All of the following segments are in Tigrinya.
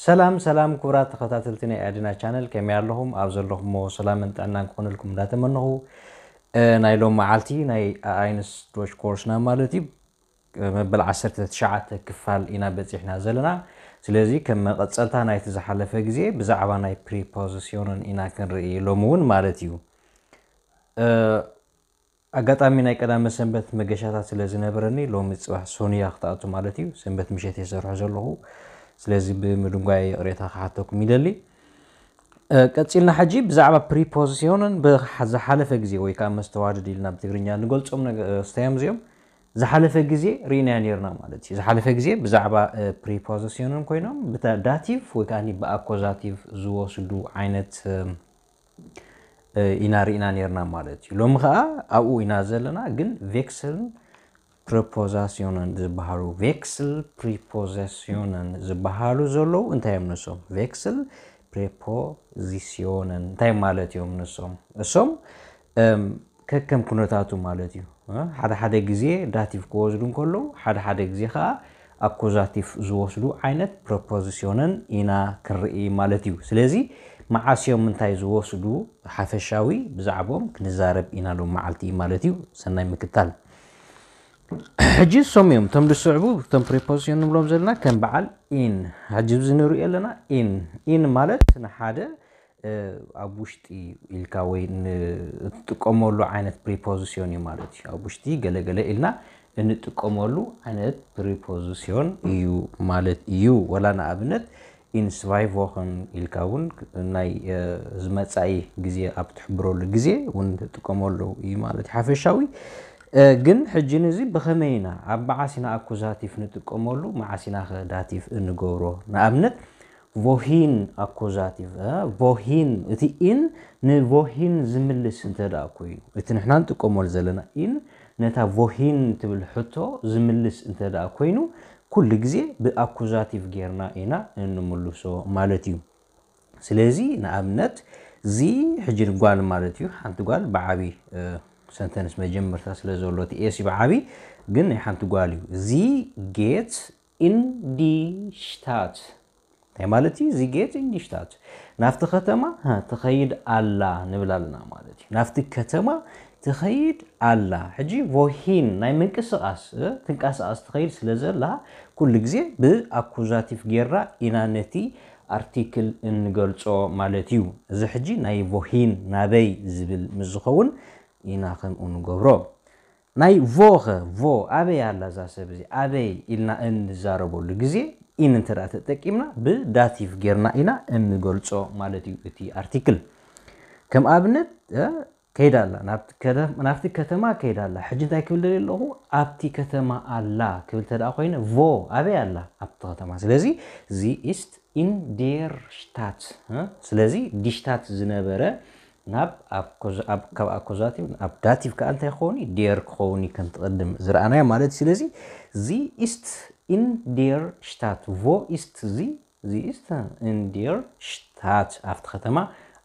ሰላም ሰላም ክቡራት ተኸታተልቲ ናይ ኣድና ቻነል፣ ከመይ ኣለኹም? ኣብ ዘለኹሞ ሰላምን ጥዕናን ክኾነልኩም እንዳተመነኹ፣ እ፣ ናይ ሎም መዓልቲ ናይ ኣኣይንስ ዶች ኮርስና ማለት እዩ፣ እ፣ መበል ዓሰርተ ትሽዓተ ክፋል ኢና በጺሕና ዘለና። ስለዚ ከም መቐጸልታ ናይቲ ዝሓለፈ ግዜ ብዛዕባ ናይ ፕሪፖዚሽንን ኢና ክንርኢ ሎም እውን ማለት እዩ። እ፣ ኣጋጣሚ ናይ ቀዳመ ሰንበት መገሻታት ስለ ዝነበረኒ ሎሚ ጽባሕ ሶንያ ክትኣቱ ማለት እዩ። ሰንበት ምሸት የሰርሖ ዘለኹ። ስለዚ ብምድንጓይ ይቕሬታ ክሓተኩም ይደሊ። እ፣ ቀጺልና ሕጂ ብዛዕባ ፕሪፖዚሽንን ብዝሓለፈ ግዜ ወይ ከዓ መስተዋድድ ኢልና ብትግርኛ ንገልጾም ነገ-፣ እ፣ ስታዮም እዚኦም ዝሓለፈ ግዜ ርኢናዮ ነርና ማለት እዩ። ዝሓለፈ ግዜ ብዛዕባ፣ እ፣ ፕሪፖዚሽንን ኮይኖም ብታ-፣ ዳቲቭ ወይ ከዓ ብኣኮዛቲቭ ዝወስዱ ዓይነት፣ እ፣ እ፣ ኢና ርኢና ነርና ማለት እዩ። ሎሚ ከዓ ኣብኡ ኢና ዘለና፣ ግን ቬክስልን ፕሪፖዚሽንን ዝበሃሉ፣ ቬክስል ፕሪፖዚሽንን ዝበሃሉ ዘለዉ እንታይ እዮም ንሶም? ቬክስል ፕሪፖዚሽንን እንታይ ማለት እዮም ንሶም? እሶም፣ እም፣ ከከም ኩነታቱ ማለት እዩ። እ፣ ሓደ ሓደ ግዜ ዳቲቭ ክወስዱ እንከለዉ፣ ሓደ ሓደ ግዜ ከዓ ኣኩዛቲቭ ዝወስዱ ዓይነት ፕሪፖዚሽንን ኢና ክንርኢ ማለት እዩ። ስለዚ መዓስ እዮም እንታይ ዝወስዱ ሓፈሻዊ ብዛዕቦም ክንዛረብ ኢና ሎም መዓልቲ ማለት እዩ። ሰናይ ምክታል። ሕጂ እሶም እዮም እቶም ዝስዕቡ፣ እቶም ፕሪፖዚሽን ንብሎም ዘለና ከም በዓል ኢን። ሕጂ እዚ ንሪኦ ኣለና ኢን። ኢን ማለት ንሓደ፣ እ፣ ኣብ ውሽጢ ኢልካ ወይ ን-፣ እትጥቀመሉ ዓይነት ፕሪፖዚሽን እዩ ማለት እዩ። ኣብ ውሽጢ ገለገለ ኢልና እንጥቀመሉ ዓይነት ፕሪፖዚሽን እዩ ማለት እዩ። ወላ ንኣብነት ኢን ስቫይ ቮኸን ኢልካ እውን ናይ፣ እ፣ ዝመጻኢ ግዜ ኣብ ትሕብረሉ ግዜ እውን ትጥቀመሉ እዩ ማለት እዩ። ሓፈሻዊ፣ እ፣ ግን ሕጂ ንዚ ብኸመይ ኢና፣ ኣብ መዓስ ኢና ኣኩዛቲቭ ንጥቀመሉ፣ መዓስ ኢና ከ ዳቲቭ እንገብሮ? ንኣብነት ቮሂን ኣኩዛቲቭ፣ እ፣ ቮሂን፣ እቲ ኢን ንቮሂን ዝምልስ እንተ ደኣ ኮይኑ፣ እቲ ንሕና ንጥቀመሉ ዘለና ኢን ነታ ቮሂን ትብል ሕቶ ዝምልስ እንተ ደኣ ኮይኑ፣ ኩሉ ግዜ ብኣኩዛቲቭ ጌርና ኢና እንምልሶ ማለት እዩ። ስለዚ ንኣብነት ዚ ሕጂ ንጓል ማለት እዩ። ሓንቲ ጓል ብዓቢ፣ እ፣ ሰንተንስ መጀመርታ ስለ ዘሎ እቲ ኤስ እዩ ብዓቢ፣ ግን ናይ ሓንቲ ጓል እዩ። ዚ ጌት ኢን ዲ ሽታት። እንታይ ማለት እዩ? ዚ ጌት ኢን ዲ ሽታት። ናብቲ ከተማ፣ ሀ፣ ትኸይድ ኣላ ንብል ኣለና ማለት እዩ። ናብቲ ከተማ ትኸይድ ኣላ። ሕጂ ቮሂን ናይ ምንቅስቓስ፣ እ፣ ትንቀሳቐስ ትኸይድ ስለ ዘላ፣ ኩሉ ግዜ ብኣኩዛቲቭ ጌርና ኢና ነቲ ኣርቲክል እንገልጾ ማለት እዩ። እዚ ሕጂ ናይ ቮሂን ናበይ ዝብል ምስ ዝኸውን ኢና ከምኡ ንገብሮ። ናይ ቮኸ፣ ቮ፣ ኣበይ ኣላ እዛ ሰብ እዚ? ኣበይ ኢልና እንዛረበሉ ግዜ ኢን እንተ ደኣ ተጠቂምና ብዳቲቭ ጌርና ኢና እንገልጾ ማለት እዩ እቲ ኣርቲክል። ከም ኣብነት፣ እ፣ ከይዳ ኣላ፣ ናብቲ ከደ-፣ ናብቲ ከተማ ከይዳ ኣላ። ሕጂ እንታይ ክብል ደልየ ኣለኹ? ኣብቲ ከተማ ኣላ ክብል እንተ ደኣ ኮይነ፣ ቮ ኣበይ ኣላ? ኣብቲ ከተማ። ስለዚ ዚ ኢስት ኢን ዴር ሽታት፣ እ? ስለዚ ዲ ሽታት ዝነበረ ናብ ኣኮዝ-፣ ኣብ፣ ካብ ኣኮዛቲቭ ኣብ ዳቲቭ ከኣ እንታይ ክኸውን እዩ? ዴር ክኸውን እዩ፣ ከምቲ ቅድም ዝረኣናዮ ማለት እዩ። ስለዚ ዚ ኢስት ኢን ዴር ሽታት፣ ቮ ኢስት ዚ፣ ዚ ኢስት ኢን ዴር ሽታት፣ ኣብቲ ከተማ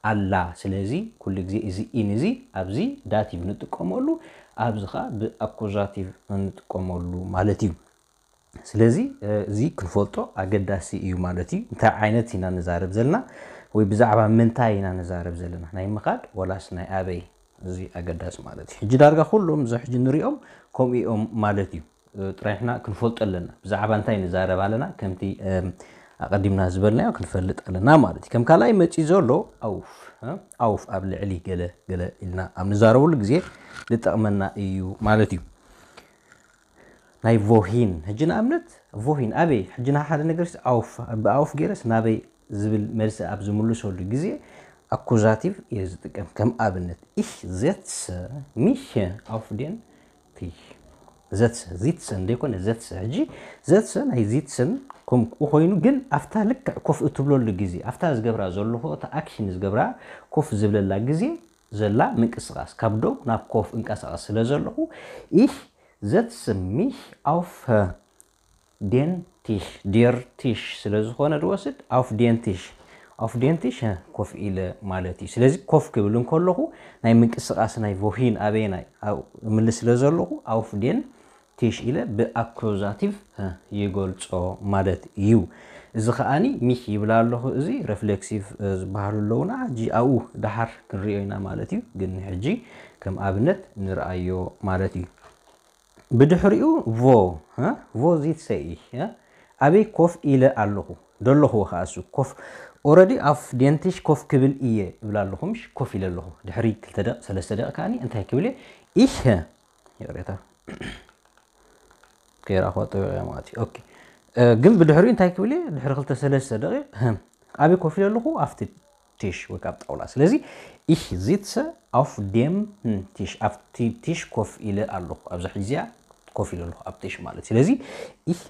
ኣላ። ስለዚ ኩሉ ግዜ እዚ ኢን እዚ ኣብዚ ዳቲቭ ንጥቀመሉ፣ ኣብዚ ኸኣ ብኣኮዛቲቭ ንጥቀመሉ ማለት እዩ። ስለዚ፣ እ፣ እዚ ክንፈልጦ ኣገዳሲ እዩ ማለት እዩ። እንታይ ዓይነት ኢና ንዛረብ ዘለና ወይ ብዛዕባ ምንታይ ኢና ንዛረብ ዘለና? ናይ ምኻድ ወላስ ናይ ኣበይ? እዚ ኣገዳሲ ማለት እዩ። ሕጂ ዳርጋ ኩሎም እዚ ሕጂ ንሪኦም ከምኡ እዮም ማለት እዩ። እ፣ ጥራይ ንሕና ክንፈልጦ ኣለና። ብዛዕባ እንታይ ንዛረብ ኣለና? ከምቲ፣ እም፣ ኣቐዲምና ዝበልናዮ ክንፈልጥ ኣለና ማለት እዩ። ከም ካልኣይ መጺኡ ዘሎ ኣውፍ፣ እ፣ ኣውፍ ኣብ ልዕሊ ገለ ገለ ኢልና ኣብ ንዛረበሉ ግዜ ዝጠቕመና እዩ ማለት እዩ። ናይ ቮሂን። ሕጂ ንኣብነት ቮሂን ኣበይ? ሕጂ ንሓደ ነገር ኣውፍ፣ ብኣውፍ ገይረስ ናበይ ዝብል መልሲ ኣብ ዝምልሰሉ ግዜ ኣኩዛቲቭ እየ ዝጥቀም። ከም ኣብነት፣ ich setze mich auf den Tisch። ዘትሰ፣ ዚትሰን ዘይኮነ ዘትሰ። ሕጂ ዘትሰ ናይ ዚትሰን ከምኡ ኮይኑ፣ ግን ኣብታ ልክዕ ኮፍ እትብለሉ ግዜ፣ ኣብታ ዝገብራ ዘለኹ፣ እታ ኣክሽን ዝገብራ ኮፍ ዝብለላ ግዜ ዘላ ምንቅስቓስ፣ ካብ ደው ናብ ኮፍ እንቀሳቐስ ስለ ዘለኹ፣ ich setze mich auf den Tisch፣ der Tisch ስለ ዝኾነ ዝወስድ auf den Tisch፣ auf den Tisch ኮፍ ኢለ ማለት እዩ። ስለዚ ኮፍ ክብል እንከለኹ ናይ ምንቅስቓስ ናይ ቮሂን ኣበየናይ ኣብ-፣ እምልስ ስለ ዘለኹ auf den Tisch ኢለ ብኣኩዛቲቭ ይገልጾ ማለት እዩ። እዚ ከኣኒ ሚህ ይብል ኣለኹ። እዚ ሬፍሌክሲቭ ዝበሃሉ ኣለውና። ሕጂ ኣብኡ ደሓር ክንሪኦ ኢና ማለት እዩ። ግን ሕጂ ከም ኣብነት ንርኣዮ ማለት እዩ። ብድሕሪኡ ቮ ቮ ዚት ሰይ ኣበይ ኮፍ ኢለ ኣለኹ ደለኹ ከኣሱ ኮፍ ኦረዲ ኣፍ ዴንቲሽ ኮፍ ክብል እየ እብል ኣለኹ። ምሽ ኮፍ ኢለ ኣለኹ። ድሕሪ ክልተ ደቂ ሰለስተ ደቂ ከኣኒ እንታይ ክብል እየ? ይህ ይቕሬታ ከይረኣኹዋ ጠቢቐ ማለት እዩ። ኦኬ። ግን ብድሕሪኡ እንታይ ክብል እየ? ድሕሪ ክልተ ሰለስተ ደቂ ኣበይ ኮፍ ኢለ ኣለኹ? ኣብቲ ቲሽ ወይ ካብ ጣውላ። ስለዚ ich sitze auf dem Tisch፣ ኣብቲ ቲሽ ኮፍ ኢለ ኣለኹ። ኣብዚ ሕዚ እዚኣ ኮፍ ኢለ ኣለኹ ኣብ ቲሽ ማለት። ስለዚ ich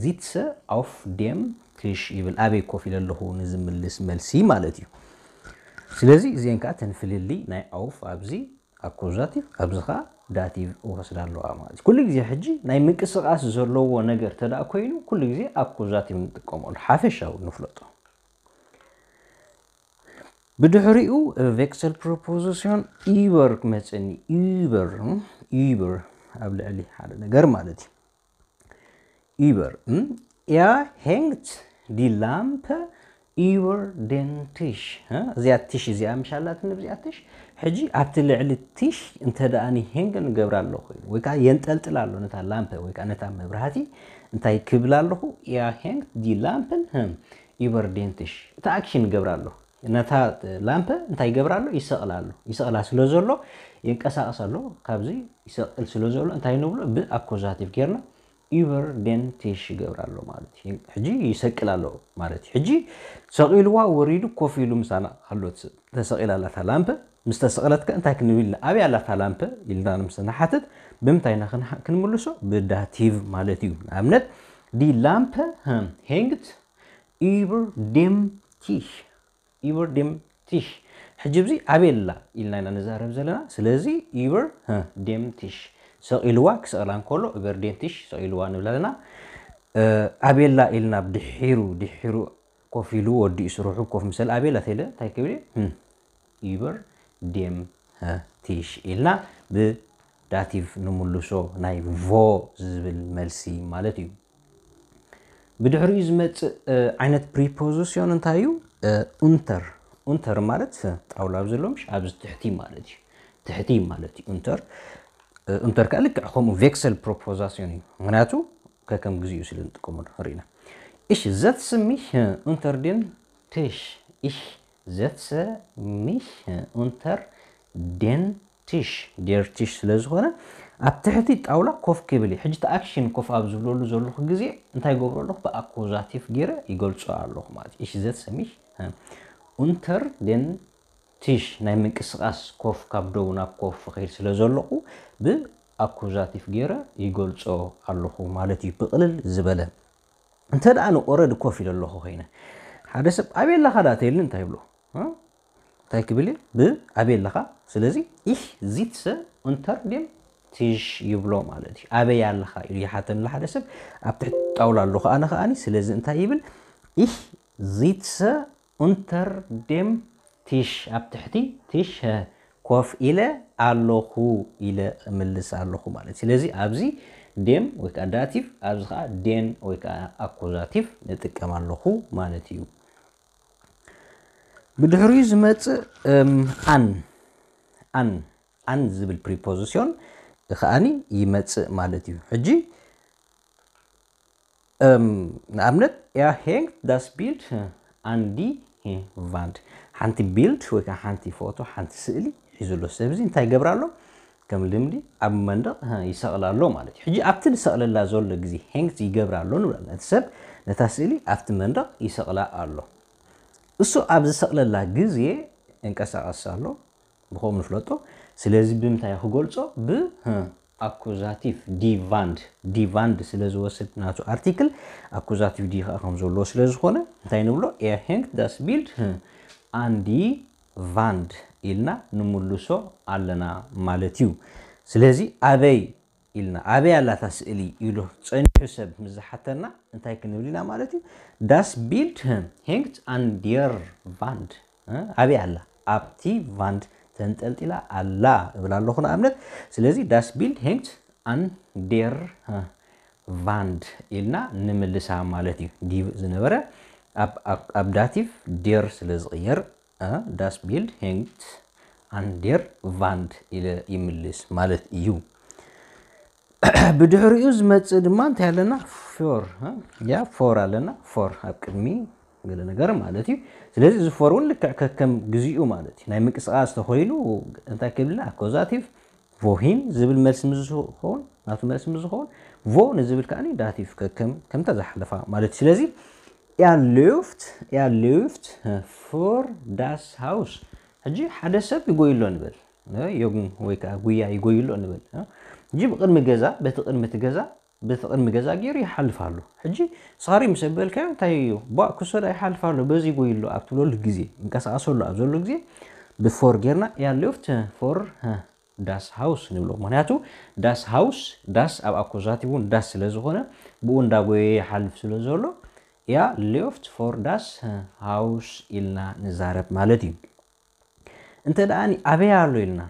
sitze auf dem Tisch ይብል፣ ኣበይ ኮፍ ኢለ ኣለኹ ንዝምልስ መልሲ ማለት እዩ። ስለዚ እዚአን ከዓ ተንፍልሊ ናይ auf ኣብዚ ኣኩዛቲቭ ኣብዚ ከዓ ዳቲቭ እወስዳ ኣለዋ ማለት እዩ። ኩሉ ግዜ ሕጂ ናይ ምንቅስቃስ ዘለዎ ነገር ተደኣ ኮይኑ ኩሉ ግዜ ኣኩዛቲቭ ንጥቀመሉ ሓፈሻዊ ንፍለጦ። ብድሕሪኡ ቬክሰል ፕሮፖዚሽን ኢበር ክመፀኒ ኢበር ኢበር ኣብ ልዕሊ ሓደ ነገር ማለት እዩ። ኢበር Er hängt die Lampe über den Tisch። እዚኣ ቲሽ እዚኣ ምሽ ኣላትኒ ብዚኣ ቲሽ። ሕጂ ኣብቲ ልዕሊ ቲሽ እንተ ደኣ ኒ ሄንግ ንገብራ ኣለኹ ወይ ከዓ የንጠልጥል ኣሎ ነታ ላምፐ ወይ ከዓ ነታ መብራህቲ እንታይ ክብል ኣለኹ? Er hängt die Lampe über den Tisch። እቲ ኣክሽን ገብራ ኣለኹ። ነታ ላምፐ እንታይ ይገብራ ኣሎ? ይሰቕላ ኣሎ። ይሰቕላ ስለ ዘሎ የንቀሳቕስ ኣሎ። ካብዚ ይሰቕል ስለ ዘሎ እንታይ ንብሎ? ብኣኮዛቲቭ ጌርና über den Tisch ይገብራ ኣሎ ማለት እዩ። ሕጂ ይሰቅል ኣሎ ማለት እዩ። ሕጂ ሰቒልዋ ወሪዱ ኮፍ ኢሉ ምሳና ኣሎ። ተሰቒላ ኣላ እታ ላምፐ። ምስ ተሰቕለት ከ እንታይ ክንብል ኢልና? ኣበይ ኣላ እታ ላምፐ ኢልና ምስ ንሓትት ብምንታይ ኢና ክንሓ- ክንምልሶ? ብዳቲቭ ማለት እዩ። ንኣብነት die Lampe hängt über dem Tisch über dem Tisch። ሕጂ ኣብዚ ኣበይ ኣላ ኢልና ኢና ንዛረብ ዘለና። ስለዚ über dem Tisch ሰቒልዋ ክሰቕላ እንከሎ über den Tisch ሰቒልዋ ንብል ኣለና። ኣበይ ኣላ ኢልና ድሒሩ ድሒሩ ኮፍ ኢሉ ወዲኡ ስርሑ ኮፍ ምስ በለ ኣበይ ኣላ ተይለ እንታይ ክብል እየ? über dem Tisch ኢልና ብዳቲቭ ንምልሶ ናይ ቮ ዝብል መልሲ ማለት እዩ። ብድሕሪኡ ዝመፅእ ዓይነት ፕሪፖዚሽን እንታይ እዩ? ኡንተር። ኡንተር ማለት ጣውላ ኣብ ዘሎ ምሽ ኣብዚ ትሕቲ ማለት እዩ። ትሕቲ ማለት እዩ ኡንተር። ኡንተር ከዓ ልክዕ ከምኡ ቬክሰል ፕሮፖዛሲዮን እዩ። ምክንያቱ ከከም ግዜኡ ስለ ንጥቀመሉ ርኢና። Ich setze mich unter den Tisch. Ich setze mich unter den Tisch. Der Tisch ስለ ዝኾነ ኣብ ትሕቲ ጣውላ ኮፍ ክብል እዩ። ሕጂ እቲ ኣክሽን ኮፍ ኣብ ዝብለሉ ዘለኹ ግዜ እንታይ ገብሮ ኣለኹ? ብኣኮዛቲቭ ገይረ ይገልጾ ኣለኹ ማለት እዩ። Ich setze mich unter den Tisch ናይ ምንቅስቃስ ኮፍ ካብ ደው ናብ ኮፍ ኸይድ ስለ ዘለኹ ብኣኮዛቲቭ ገይረ ይገልጾ ኣለኹ ማለት እዩ። ብቕልል ዝበለ እንተ ደኣ ንኦረድ ኮፍ ኢለ ኣለኹ ኮይነ ሓደ ሰብ ኣበይ ኣለኻ ደኣ ተይልኒ እንታይ ይብሎ? እንታይ ክብል እዩ? ብኣበይ ኣለኻ? ስለዚ ich sitze unter dem Tisch ይብሎ ማለት እዩ። ኣበይ ኣለኻ ኢሉ ይሓተኒ ሓደ ሰብ ኣብ ትሕቲ ጣውላ ኣለኹ ኣነ ከኣኒ። ስለዚ እንታይ ይብል? Ich sitze unter dem Tisch ኣብ ትሕቲ ቲሽ ኮፍ ኢለ ኣለኹ ኢለ እምልስ ኣለኹ ማለት። ስለዚ ኣብዚ dem ወይ ከዓ ዳቲቭ ኣብዚ ከዓ den ወይ ከዓ ኣኮዛቲቭ ንጥቀም ኣለኹ ማለት እዩ። ብድሕሪኡ ዝመፅእ an an an ዝብል ፕሪፖዚሽን ከዓኒ ይመፅእ ማለት እዩ። ሕጂ ንኣብነት er hängt das Bild an die Wand ሓንቲ ቢልድ ወይ ከዓ ሓንቲ ፎቶ ሓንቲ ስእሊ ሒዙ ኣሎ። ሰብዚ እንታይ ይገብር ኣሎ? ከም ልምዲ ኣብ መንደቕ ይሰቕላ ኣሎ ማለት እዩ። ሕጂ ኣብቲ ዝሰቕለላ ዘሎ ግዜ hängt ይገብር ኣሎ ንብል። እቲ ሰብ ነታ ስእሊ ኣብቲ መንደቕ ይሰቕላ ኣሎ። እሱ ኣብ ዝሰቕለላ ግዜ እንቀሳቐስ ኣሎ። ብኸም ንፍለጦ። ስለዚ ብምንታይ ክገልጾ? ብ ኣኩዛቲቭ die Wand die Wand ስለ ዝወስድ ናቱ ኣርቲክል ኣኩዛቲቭ die ከዓ ከም ዘለዎ ስለ ዝኾነ እንታይ ንብሎ? Er hängt das Bild an die Wand ኢልና ንምልሶ ኣለና ማለት እዩ። ስለዚ ኣበይ ኢልና ኣበይ ኣላታ ስእሊ ኢሉ ጸኒሑ ሰብ ምስ ዝሓተና እንታይ ክንብል ኢና ማለት እዩ? Das Bild hängt an der Wand ኣበይ ኣላ? ኣብቲ ቫንድ ተንጠልጢላ ኣላ እብል ኣለኹ ንኣብነት። ስለዚ das Bild hängt an der Wand ኢልና ንምልሳ ማለት እዩ። Die ዝነበረ ኣብ ዳቲቭ der ስለ ዝቕየር das Bild hängt an der Wand ኢለ ይምልስ ማለት እዩ። ብድሕሪኡ ዝመፅእ ድማ እንታይ ኣለና? Vor። ያ vor ኣለና። Vor ኣብ ቅድሚ ገለ ነገር ማለት እዩ። ስለዚ እዚ vor እውን ልክዕ ከከም ግዚኡ ማለት እዩ። ናይ ምንቅስቃስ ተኮይኑ እንታይ ክብልና? Akkusativ wohin ዝብል መልሲ ምስ ዝኸውን፣ ናቱ መልሲ ምስ ዝኸውን፣ wo ንዝብል ከዓኒ ዳቲቭ ከከም ከምታ ዝሓለፋ ማለት እዩ። ስለዚ er läuft er läuft vor das Haus። ሕጂ ሓደ ሰብ ይጎይሎ ንበል። ዮጉን ወይ ከዓ ጉያ ይጎይሎ ንበል። ሕጂ ብቅድሚ ገዛ፣ በቲ ቅድሚ እቲ ገዛ፣ በቲ ቅድሚ ገዛ ገይሩ ይሓልፍ ኣሎ። ሕጂ ስኻሪ ምስ በልካዮ እንታይ እዩ? ቧእ ክሶዳ ይሓልፍ ኣሎ፣ በዚ ይጎይሎ ኣብ ትብለሉ ግዜ፣ እንቀሳቀሰሉ ኣብ ዘሎ ግዜ ብፎር ጌርና er läuft vor das Haus ንብሎ። ምክንያቱ das Haus፣ das ኣብ ኣኮዛቲቭ እውን das ስለ ዝኾነ ብኡ እንዳጎየ ይሓልፍ ስለ ዘሎ er läuft vor das Haus ኢልና ንዛረብ ማለት እዩ። እንተ ደኣ ኣበይ ኣሎ ኢልና፣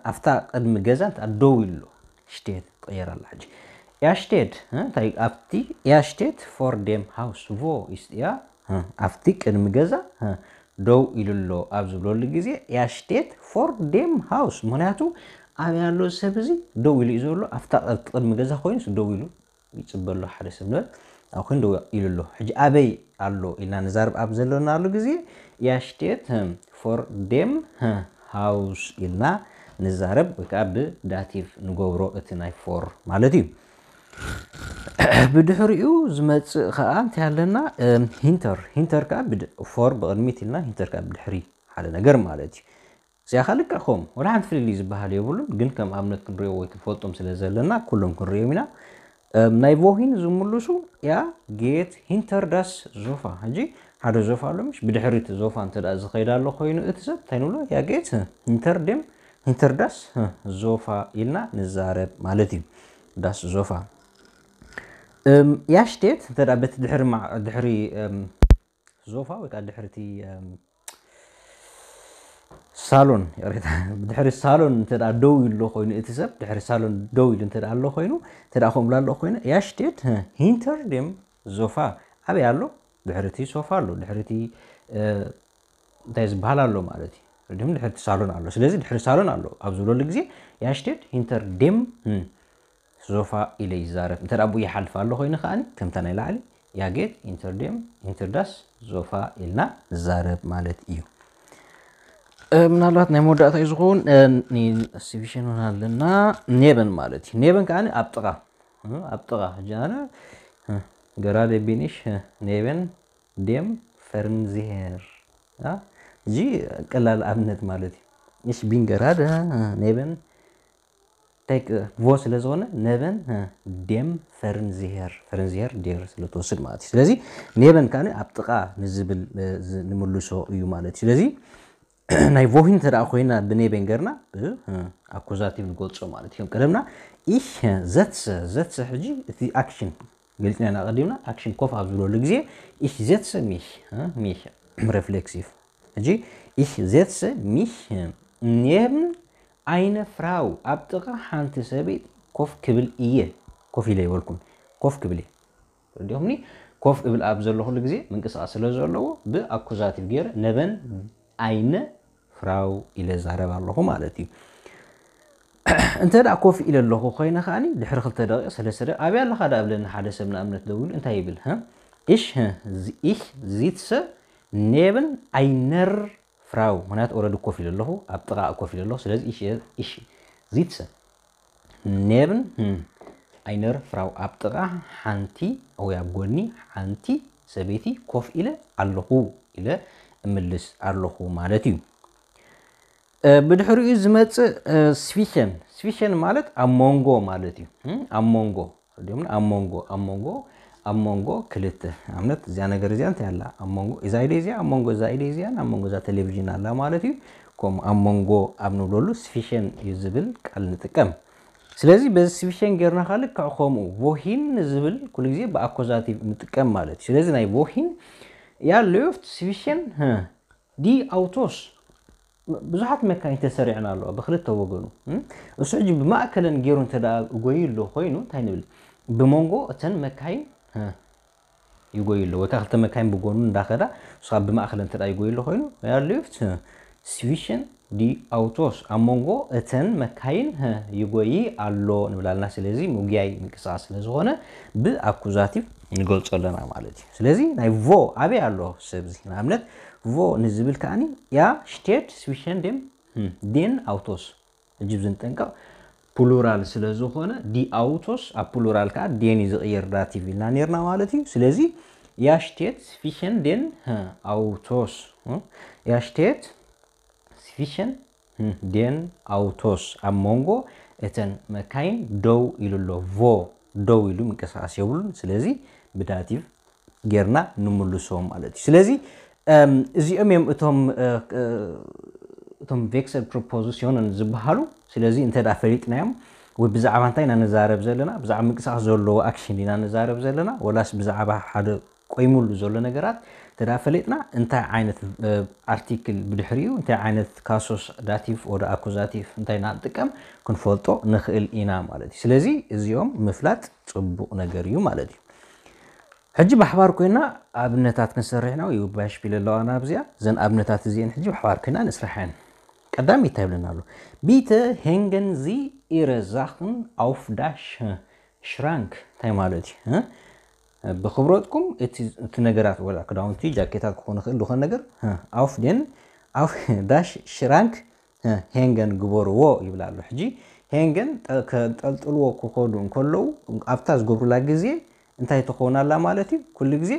ኣብታ ቅድሚ ገዛ እንተ ደው ኢሉ ኣሎ፣ steht ትቕየር ኣላ። ሕጂ er steht እንታይ ኣብቲ er steht vor dem Haus፣ wo ist er፣ ኣብቲ ቅድሚ ገዛ ደው ኢሉ ኣሎ ኣብ ዝብለሉ ግዜ er steht vor dem Haus፣ ምክንያቱ ኣበይ ኣሎ ሰብ እዚ ደው ኢሉ እዩ ዘሎ፣ ኣብታ ቅድሚ ገዛ ኮይኑስ ደው ኢሉ ይፅበ ኣሎ ሓደ ሰብ ንበል፣ ኣብ ኮይኑ ደው ኢሉ ኣሎ። ሕጂ ኣበይ ኣሎ ኢልና ንዛረብ ኣብ ዘለናሉ ግዜ er steht vor dem Haus ኢልና ንዛረብ ወይ ከዓ ብዳቲቭ ንገብሮ እቲ ናይ vor ማለት እዩ። ብድሕሪኡ ዝመፅእ ከዓ እንታይ ኣለና? Hinter። Hinter ከዓ vor ብቕድሚት ኢልና hinter ከዓ ብድሕሪ ሓደ ነገር ማለት እዩ። እዚኣ ከዓ ልክዕ ከምኡ ወላ ሓንቲ ፍልልይ ዝበሃል የብሉን፣ ግን ከም ኣብነት ክንሪኦ ወይ ክንፈልጦም ስለ ዘለና ኩሎም ክንሪኦም ኢና። ናይ wohin ዝምልሱ er geht hinter das Sofa። ሕጂ ሓደ ዞፋ ኣሎ ምሽ፣ ብድሕሪ እቲ ዞፋ እንተ ዝኸይድ ኣሎ ኮይኑ እቲ ሰብ እንታይ ንብሎ? Er geht hinter dem hinter das Sofa ኢልና ንዛረብ ማለት እዩ። Das Sofa er steht እንተ በቲ ድሕሪ ድሕሪ ዞፋ ወይ ከዓ ድሕሪ እቲ ሳሎን፣ ይቕሬታ፣ ድሕሪ ሳሎን እንተ ደኣ ደው ኢሉ ኣሎ ኮይኑ፣ እቲ ሰብ ድሕሪ ሳሎን ደው ኢሉ እንተ ደኣ ኣሎ ኮይኑ፣ እንተ ደኣ ከምኡ ኣሎ ኮይኑ፣ er steht hinter dem Sofa። ኣበይ ኣሎ? ድሕሪ እቲ ሶፋ ኣሎ፣ ድሕሪ እቲ እንታይ ዝበሃል ኣሎ ማለት እዩ። ድም ድሕሪ እቲ ሳሎን ኣሎ። ስለዚ ድሕሪ ሳሎን ኣሎ ኣብ ዝብለሉ ግዜ er steht hinter dem Sofa ኢለ ይዛረብ። እንተ ደኣ ብኡ ይሓልፍ ኣሎ ኮይኑ ከዓኒ ከምታ ናይ ላዕሊ er geht hinter dem hinter das Sofa ኢልና ንዛረብ ማለት እዩ። ምናልባት ናይ መወዳእታ እዩ ዝኸውን። Zwischen እውን ኣለና። Neben ማለት እዩ። Neben ከዓኒ ኣብ ጥቓ፣ ኣብ ጥቓ። ሕጂ ኣነ gerade bin ich neben dem Fernseher። እዚ ቀላል ኣብነት ማለት እዩ። Ich bin gerade neben እንታይ wo ስለ ዝኾነ neben dem Fernseher፣ Fernseher der ስለ ትወስድ ማለት እዩ። ስለዚ neben ከኣ ኣብ ጥቓ ንዝብል ንምልሶ እዩ ማለት እዩ። ስለዚ ናይ wohin እንተ ደኣ ኮይና ብ neben ገርና ብ accusative ንገልጾ ማለት እዩ። ከም ቀደምና ich setze፣ setze ሕጂ እቲ ኣክሽን ገሊጽና ኢና ቀዲምና። ኣክሽን ኮፍ ኣብ ዝብለሉ ግዜ ich setze mich፣ mich reflexiv። ሕጂ ich setze mich neben eine Frau፣ ኣብ ጥቓ ሓንቲ ሰበይቲ ኮፍ ክብል እየ። ኮፍ ኢለ ይበልኩን፣ ኮፍ ክብል እየ። ረዲኹምኒ? ኮፍ እብል ኣብ ዘለኹሉ ግዜ ምንቅስቓስ ስለ ዘለዎ ብኣኩዛቲቭ ገይረ neben eine Frau ኢለ ዛረብ ኣለኹ ማለት እዩ። እንተ ደኣ ኮፍ ኢለ ኣለኹ ኮይነ ከኣኒ ድሕሪ ክልተ ደቂቕ፣ ሰለስተ ደቂቕ፣ ኣበይ ኣለኻ ደኣ ብለኒ ሓደ ሰብ ንኣብነት ደዊሉ እንታይ ይብል? Ich ich sitze neben einer Frau፣ ምክንያቱ ኦረዲ ኮፍ ኢለ ኣለኹ፣ ኣብ ጥቓ ኮፍ ኢለ ኣለኹ። ስለዚ ich ich sitze neben einer Frau፣ ኣብ ጥቓ ሓንቲ ወይ ኣብ ጎኒ ሓንቲ ሰበይቲ ኮፍ ኢለ ኣለኹ ኢለ እምልስ ኣለኹ ማለት እዩ። ብድሕሪኡ ዝመጽእ zwischen፣ zwischen ማለት ኣብ መንጎ ማለት እዩ። ኣብ መንጎ፣ ዲኹም ኣብ መንጎ፣ ኣብ መንጎ፣ ኣብ መንጎ ክልተ ኣብነት እዚኣ ነገር እዚኣ እንታይ ኣላ? ኣብ መንጎ እዛ ኢደ እዚኣ፣ ኣብ መንጎ እዛ ኢደ እዚኣን ኣብ መንጎ እዛ ቴሌቪዥን ኣላ ማለት እዩ። ከምኡ ኣብ መንጎ ኣብ ንብለሉ zwischen እዩ ዝብል ቃል ንጥቀም። ስለዚ በዚ zwischen ጌርና ከኣ ልክዕ ከምኡ wohin ዝብል ኩሉ ግዜ ብኣኮዛቲቭ ንጥቀም ማለት እዩ። ስለዚ ናይ wohin er läuft zwischen die Autos፣ ብዙሓት መካይን ተሰሪዐን ኣለዋ ብክልተ ወገኑ። እሱ ሕጂ ብማእከለን ገይሩ እንተ ደኣ ጎዩ ኣሎ ኮይኑ እንታይ ንብል? ብመንጎ እተን መካይን ይጎይ ኣሎ ወይ ከዓ ክልተ መካይን ብጎኑ እንዳኸዳ ንስኻ ብማእኸል እንተ ይጎይ ኣሎ ኮይኑ ያሉፍት zwischen die Autos ኣብ መንጎ እተን መካይን ይጎይ ኣሎ ንብላልና። ስለዚ ምጉያይ ምንቅስቃስ ስለ ዝኾነ ብኣኩዛቲቭ ንገልጾ ኣለና ማለት እዩ። ስለዚ ናይ ቮ ኣበይ ኣሎ ሰብዚ ንኣብነት ቮ ንዝብል ከዓኒ ja steht zwischen dem den Autos ሕጂ ዝንጠንቀቕ ፕሉራል ስለ ዝኾነ die Autos ኣብ ፕሉራል ከዓ den እዩ ዝቕየር ዳቲቭ ኢልና ነርና ማለት እዩ። ስለዚ ja steht zwischen den Autos ja steht zwischen den Autos ኣብ መንጎ እተን መካይን ደው ኢሉ ኣሎ። ቮ ደው ኢሉ ምንቅስቃስ የብሉን። ስለዚ ብዳቲቭ ጌርና ንምልሶም ማለት እዩ። ስለዚ እዚኦም እዮም እቶም እቶም vexed preposition ዝበሃሉ። ስለዚ እንተ ደኣ ፈሊጥናዮም ወይ ብዛዕባ እንታይ ኢና ንዛረብ ዘለና፣ ብዛዕባ ምንቅስቃስ ዘለዎ ኣክሽን ኢና ንዛረብ ዘለና ወላስ ብዛዕባ ሓደ ቆይሙሉ ዘሎ ነገራት እንተ ደኣ ፈሊጥና እንታይ ዓይነት ኣርቲክል ብድሕሪኡ እንታይ ዓይነት ካሶስ ዳቲቭ ወደ ኣኩዛቲቭ እንታይ ኢና ንጥቀም ክንፈልጦ ንኽእል ኢና ማለት እዩ። ስለዚ እዚኦም ምፍላጥ ጽቡቕ ነገር እዩ ማለት እዩ። ሕጂ ብሓባር ኮይና ኣብነታት ክንሰርሕ ኢና። ይባሽፒል ኣለዋ ናብዚኣ። እዘን ኣብነታት እዚአን ሕጂ ብሓባር ኮይና ንስርሐን። ቀዳሚ እንታይ ይብለና ኣሎ? Bitte hängen Sie Ihre Sachen auf das Schrank እንታይ ማለት እዩ? ብክብረትኩም እቲ ነገራት ወላ ክዳውንቲ ጃኬታት ክኾኑ ይኽእል ዝኾነ ነገር auf den auf das Schrank hängen ግበርዎ ይብል ኣሎ። ሕጂ hängen ከንጠልጥልዎ ክኸዱ እንከለዉ ኣብታ ዝገብሩላ ግዜ እንታይ ትኸውን ኣላ ማለት እዩ? ኩሉ ግዜ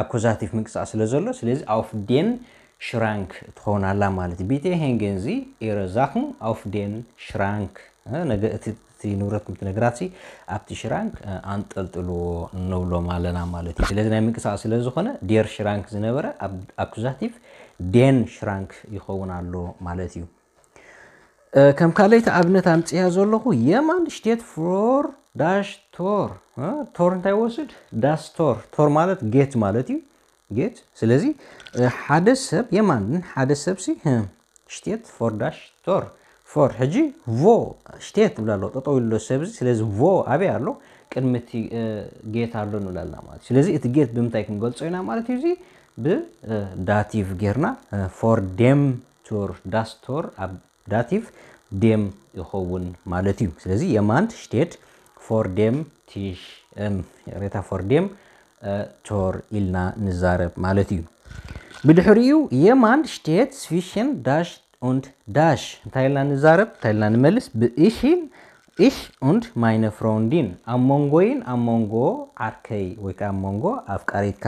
ኣኩዛቲቭ ምንቅስቃስ ስለ ዘሎ ስለዚ auf den Schrank ትኸውን ኣላ ማለት እዩ። Bitte hängen Sie Ihre Sachen auf den Schrank እቲ ንብረትኩም እቲ ነገራት ኣብቲ ሽራንክ ኣንጠልጥልዎ ንብሎም ኣለና ማለት እዩ። ስለዚ ናይ ምንቅስቃስ ስለ ዝኾነ der Schrank ዝነበረ ኣኩዛቲቭ den Schrank ይኸውን ኣሎ ማለት እዩ። ከም ካልኣይቲ ኣብነት ኣምፅያ ዘለኹ jemand steht vor das Tor። ቶር እንታይ ወስድ das Tor። ቶር ማለት ጌት ማለት እዩ። ጌት ስለዚ ሓደ ሰብ jemand ሓደ ሰብ ሲ steht vor das Tor vor ሕጂ ቮ steht ትብል ኣሎ ጠጠው ኢሉ ሰብዚ። ስለዚ ቮ ኣበይ ኣሎ? ቅድሚ እቲ ጌት ኣሎ ንብላልና ማለት እዩ። ስለዚ እቲ ጌት ብምንታይ ክንገልጾ ኢና ማለት እዩ? እዚ ብዳቲቭ ጌርና vor dem Tor das Tor ኣብ ዳቲቭ dem ይኸውን ማለት እዩ። ስለዚ jemand steht vor dem Tisch ሬታ vor dem Tor ኢልና ንዛረብ ማለት እዩ። ብድሕሪኡ jemand steht zwischen das und das እንታይ ኢልና ንዛረብ እንታይ ኢልና ንመልስ ብእሽን ich und meine Freundin ኣብ መንጎይን ኣብ መንጎ ዓርከይ ወይ ከዓ ኣብ መንጎ ኣፍቃሪትካ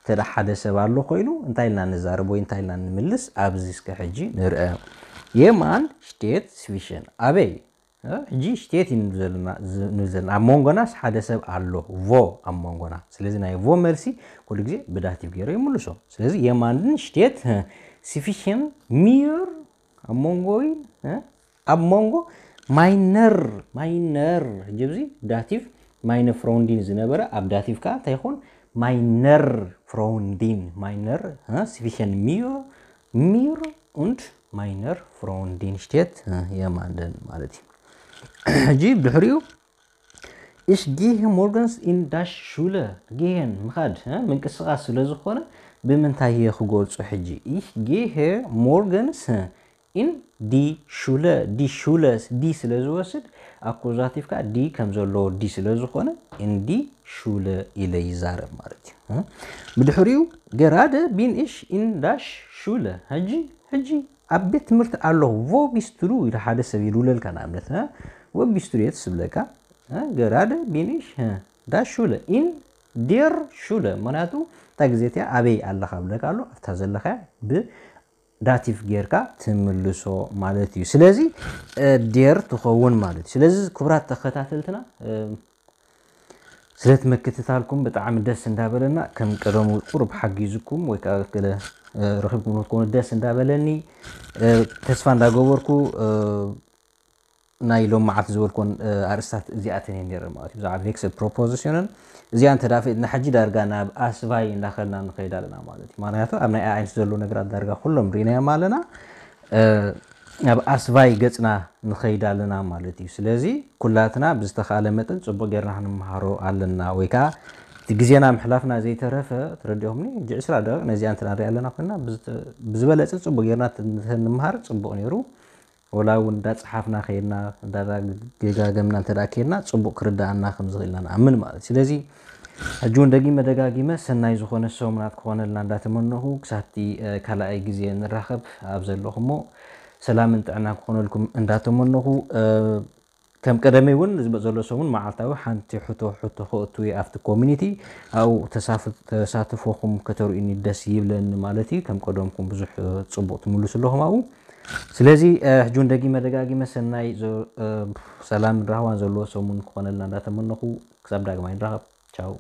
እንተ ሓደ ሰብ ኣሎ ኮይኑ እንታይ ኢልና ንዛረብ ወይ እንታይ ኢልና ንምልስ ኣብዚ እስከ ሕጂ ንርአ። Jemand steht zwischen ኣበይ ሕጂ steht ኢና ዘለና ኣብ መንጎናስ ሓደ ሰብ ኣሎ vo ኣብ መንጎና። ስለዚ ናይ vo መልሲ ኩሉ ግዜ ብዳቲቭ ገይረ ይምልሶ። ስለዚ jemanden steht zwischen mir ኣብ መንጎይን ኣብ መንጎ meiner meiner ሕጂ ኣብዚ ዳቲቭ meine Freundin ዝነበረ ኣብ ዳቲቭ ከዓ እንታይ ይኾን? Meiner Freundin meiner zwischen mir mir und meiner Freundin steht jemanden ማለት እዩ። ሕጂ ብድሕሪኡ ich gehe morgens in das Schule gehen ምኻድ ምንቅስቃስ ስለ ዝኾነ ብምንታይ እየ ክገልጾ? ሕጂ ich gehe morgens in die Schule die Schule die ስለ ዝወስድ ኣኩዛቲቭ ከዓ die ከም ዘለዎ die ስለ ዝኾነ in die Schule ኢለ ይዛረብ ማለት እዩ። ብድሕሪኡ gerade bin ich in das Schule ሕጂ ሕጂ ኣብ ቤት ትምህርቲ ኣለኹ። Wo bist du ኢሉ ሓደ ሰብ ይድውለልካ ንኣብነት wo bist du የት ስብለካ gerade bin ich das Schule in der Schule ምክንያቱ እታ ግዜ እቲኣ ኣበይ ኣለኻ ብለካ ኣሎ ኣብታ ዘለኻ ብ ዳቲቭ ጌርካ ትምልሶ ማለት እዩ። ስለዚ der ትኸውን ማለት እዩ። ስለዚ ክቡራት ተኸታተልትና ስለ እቲ ምክትታልኩም ብጣዕሚ ደስ እንዳበለና ከም ቀደሙ ቁሩብ ሓጊዝኩም ወይ ከዓ ገለ ረኺብኩም ክትኮኑ ደስ እንዳበለኒ ተስፋ እንዳገበርኩ ናይ ሎም መዓልቲ ዝበልኮን ኣርእስታት እዚኣተን እየን ነይረን ማለት እዩ። ብዛዕባ vexed preposition ን እዚኣ እንተ ደኣ ፈሊጥና ሕጂ ዳርጋ ናብ ኣስባይ እንዳኸድና ንኸይድ ኣለና ማለት እዩ። ምክንያቱ ኣብ ናይ ኣዕንት ዘለዉ ነገራት ዳርጋ ኩሎም ርኢናዮም ኣለና። ኣብ ኣስቫይ ገጽና ንኸይድ ኣለና ማለት እዩ። ስለዚ ኩላትና ብዝተኻለ መጠን ጽቡቕ ጌርና ክንምሃሮ ኣለና፣ ወይ ከዓ እቲ ግዜና ምሕላፍና ዘይተረፈ፣ ትረዲኦምኒ፣ ሕጂ ዕስራ ደቂቕ ነዚኣ እንተ ንሪኣ ኣለና ኮይና፣ ብዝተ-፣ ብዝበለጸ ጽቡቕ ጌርና እንተ-፣ እንተ-፣ ንምሃር ጽቡቕ ነይሩ። ወላ እውን እንዳጸሓፍና ከይድና፣ እንዳደጋገምና እንተ ደኣ ከይድና፣ ጽቡቕ ክርዳኣና ከም ዝኽእል ኢና ንኣምን ማለት እዩ። ስለዚ ሕጂ እውን ደጊመ ደጋጊመ ሰናይ ዝኾነ ሰሙናት ክኾነልና እንዳተመነኹ፣ ክሳብቲ፣ እ፣ ካልኣይ ግዜ ንራኸብ ኣብ ዘለኹሞ ሰላምን ጥዕናን ክኾነልኩም እንዳተመነኹ፣ እ፣ ከም ቀደመይ እውን ዝመ-፣ ዘሎ ሰሙን መዓልታዊ ሓንቲ ሕቶ፣ ሕቶ ከእቱ እየ ኣብቲ ኮሚኒቲ። ኣብኡ ተሳፍ-፣ ተሳትፎኹም ከተርእዩኒ ደስ ይብለኒ ማለት እዩ። ከም ቀደምኩም ብዙሕ፣ እ፣ ጽቡቕ ትምልሱ ኣለኹም ኣብኡ። ስለዚ፣ እ፣ ሕጂ እውን ደጊመ ደጋጊመ ሰናይ ዘ-፣ እ፣ ሰላምን ራህዋን ዘለዎ ሰሙን ክኾነልና እንዳተመነኹ፣ ክሳብ ዳግማይ ንራኸብ። ቻው።